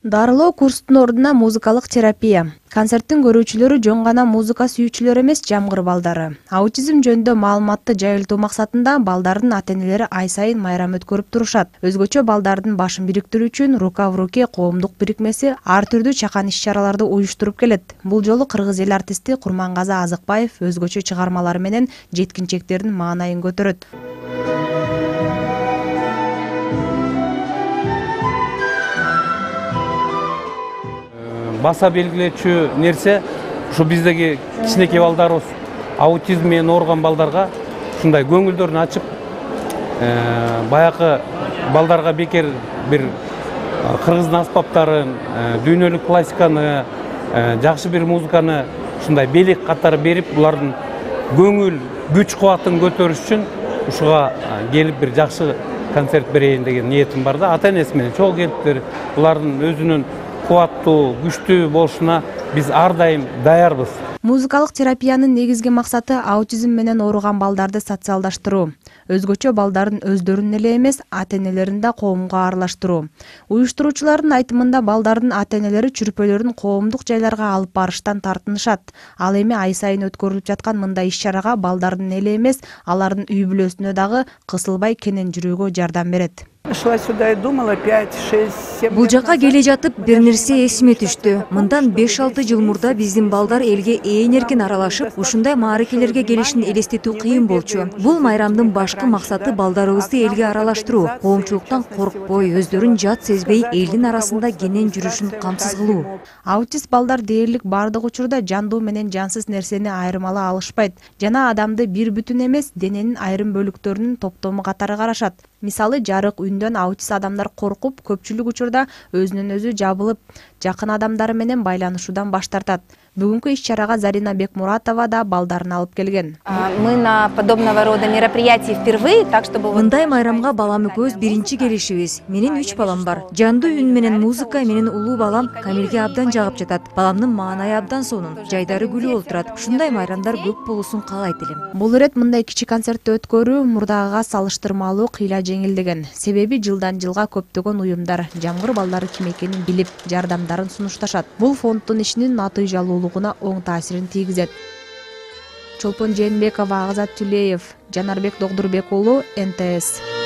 Дарылоо курстун ордуна музыкалык терапия. Концерттин көрүүчүлөрү жөн гана музыка сүйүүчүлөр эмес, жамгыр балдары. Аутизм жөнүндө маалыматты жайылтуу максатында балдардын ата-энелери ай сайын майрам өткөрүп турушат. Өзгөчө балдардын башын бириктирүү үчүн Рука в руке коомдук бирикмеси ар түрдүү чакан иш-чараларды уюштуруп келет. Бул жолу кыргыз эл артисти Курмангазы Азыкбаев өзгөчө чыгармалары менен жеткинчектердин маанайын көтөрөт. Баса белгилечү нерсе ушу биздеги кичинекей балдарыбыз аутизм менен ооруган балдарга ушундай көңүлдөрүн ачып, баягы балдарга бекер бир кыргыздын аспаптарын, дүйнөлүк классиканы, жакшы бир музыканы ушундай белек катары берип, булардын көңүл күч кубатын көтөрүш үчүн ушуга келип бир жакшы концерт берейин деген ниетим бар да. Ата-энеси менен чогуу келиптир. Булардын өзүнүн кубаттуу, күчтүү болушуна биз ар дайым даярбыз. Музыкалык терапиянын негизги максаты аутизм менен ооруган балдарды социалдаштыруу. Өзгөчө балдардын өздөрүн эле эмес, ата-энелерин да коомго аралаштыруу. Уюштуруучулардын айтымында балдардын ата-энелери чүрпөлөрүн коомдук жайларга алып барыштан тартынышат. Ал эми ай сайын өткөрүлүп жаткан мындай иш-чарага балдардын эле эмес, алардын үй бүлөсүнө дагы кысылбай кенен жүрүүгө жардам берет. Шла сюда и думала 5, 6, 7. Бул жака келе жатып бир нерсе эсиме түштү. Мындан 5-6 жыл мурда биздин балдар элге ээн эркин аралашып, ушундай мааракелерге келишин элестетүү кыйын болчу. Бул майрамдын башкы максаты балдарыбызды элге аралаштыруу, коомчулуктан коркпой, өздөрүн жат сезбей, элдин арасында кенен жүрүшүн камсыз кылуу. Аутист балдар дээрлик бардык учурда жандуу менен жансыз нерсени айырмалай алышпайт жана адамды бир бүтүн эмес, дененин айрым бөлүктөрүнүн топтому катары карашат. Мисалы, жарык үндөн аутист адамдар коркуп, көпчүлүк учурда өзүнөн өзү жабылып, жакын адамдары менен байланышуудан баш тартат. Бүгүнкү иш-чарага Зарина Бекмуратова да балдарын алып келген. Мы на подобного рода мероприятии впервые, так чтобы мындай майрамга балам экөөбүз биринчи келишибиз. Менин 3 балам бар. Жандуу үн менен музыка менин улуу балам Камилге абдан жагып жатат. Баламдын маанайы абдан сонун, жайдары күлүп олтурат. Ушундай майрамдар көп болушун каалайт элем. Бул ирет мындай кичи концертти өткөрүү мурдагыга салыштырмалуу кыйла жеңилдеген. Себеби жылдан жылга көптөгөн уюмдар жамгыр балдары ким экенин билип, жардамдарын сунушташат. Бул фонддун ишинин натыйжалуулугуна оң таасирин тийгизет. Чолпон Жээнбекова, Агзат Түлеев, Жанарбек Догдурбек уулу, НТС.